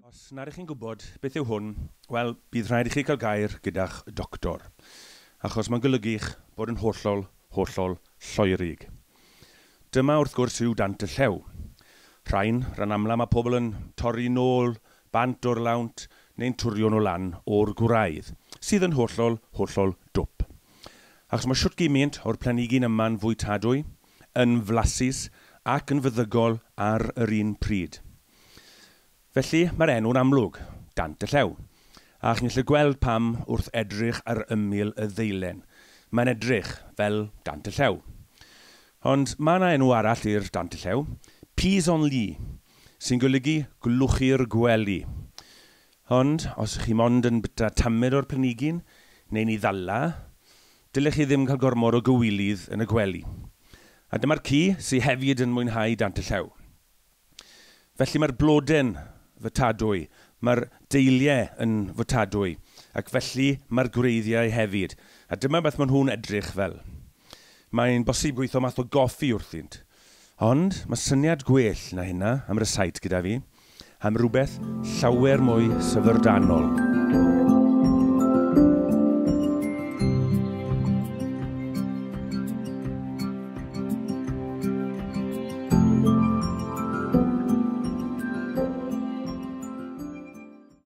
Os nad ych chi'n gwybod beth yw hwn, wel, bydd rhaid i chi cael gair gyda'ch doctor, achos mae'n golygu'ch bod yn hollol, hollol lloerig. Dyma wrth gwrs yw dant y llew. Rhain, rhan amla mae pobl yn torri nôl, bant o'r lawnt, neu'n twrio nhw lan o'r gwraidd, sydd yn hollol, hollol dwp. Achos mae shwt gymaint o'r planhigyn yma'n fwytadwy, yn flasus ac yn feddygol ar yr un pryd. Felly mae'r enw'n amlwg, Dant y Llew. A chi'n gallu gweld pam wrth edrych ar ymyl y ddeilen. Mae'n edrych fel Dant y Llew. Ond mae yna enw arall i'r Dant y Llew, Pis-en-lit, sy'n golygu glwchu'r gwely. Ond os ych chi mond yn byta tamed o'r planhigyn neu'n ei ddala, dylech chi ddim cael gormod o gywilydd yn y gwely. A dyma'r ci sydd hefyd yn mwynhau Dant y Llew. Felly mae'r blode'n fytadwy, mae'r deiliau yn fytadwy, ac felly mae'r gwreiddiau hefyd. A dyma beth maen nhw'n edrych fel. Mae'n bosib gweithio math o goffi wrthynt. Ond mae syniad gwell na hynna am rysáit gyda fi, am rhywbeth llawer mwy syfrdanol.